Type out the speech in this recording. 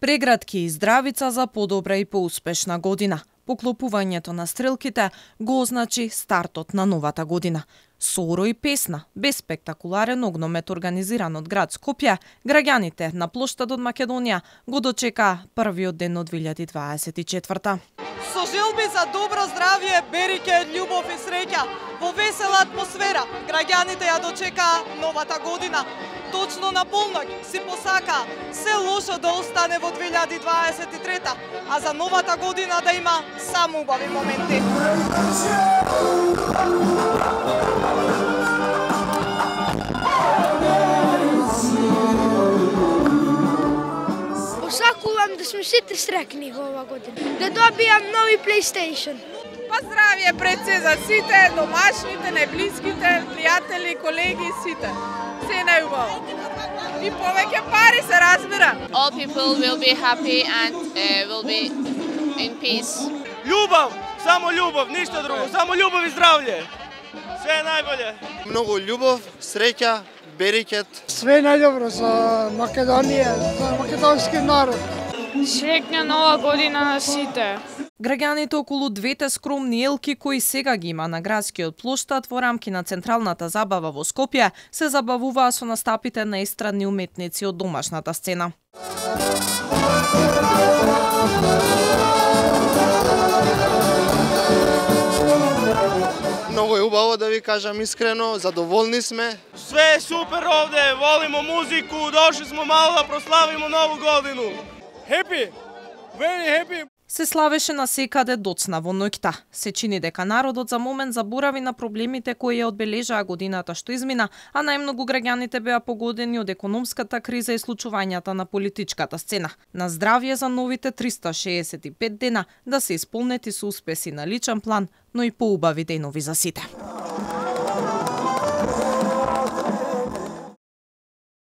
Преградки и здравица за подобра и поуспешна година. Поклопувањето на стрелките го означи стартот на новата година. Соро и песна, без спектакуларен огномет организиран од град Скопје, граѓаните на плоштадот Македонија го дочекаа првиот ден од 2024. Со желби за добро здравје, береќе, љубов и среќа, во весела атмосфера, граѓаните ја дочекаа новата година. Точно на полноќ си посака се лошо да остане во 2023, а за новата година да има само убави моменти. Посакувам да сме сите среќни во ова година, да добијам нови PlayStation. Па здравје пред се за сите, домашните, најблиските, пријатели, колеги, сите. Се најубаво. И повеќе пари се разбира. All people will be happy and will be in peace. Љубов, само љубов, ништо друго, само љубов и здравје. Се најболje. Многу љубов, среќа, берекет. Све најдобро за Македонија, за македонски народ. Среќна нова година на сите. Граѓаните околу двете скромни елки кои сега ги има на градскиот плоштад во рамки на централната забава во Скопје се забавуваа со настапите на естрадни уметници од домашната сцена. Многу е убаво да ви кажам искрено, задоволни сме. Све е супер овде, волимо музику, дошли смо мало да прославимо нову годину. Happy, very happy. Се славеше на секаде доцна во ноќта. Се чини дека народот за момент заборави на проблемите кои ја одбележаа годината што измина, а најмногу граѓаните беа погодени од економската криза и случувањата на политичката сцена. На здравје за новите 365 дена да се исполнети со успеси на личен план, но и поубави денови за сите.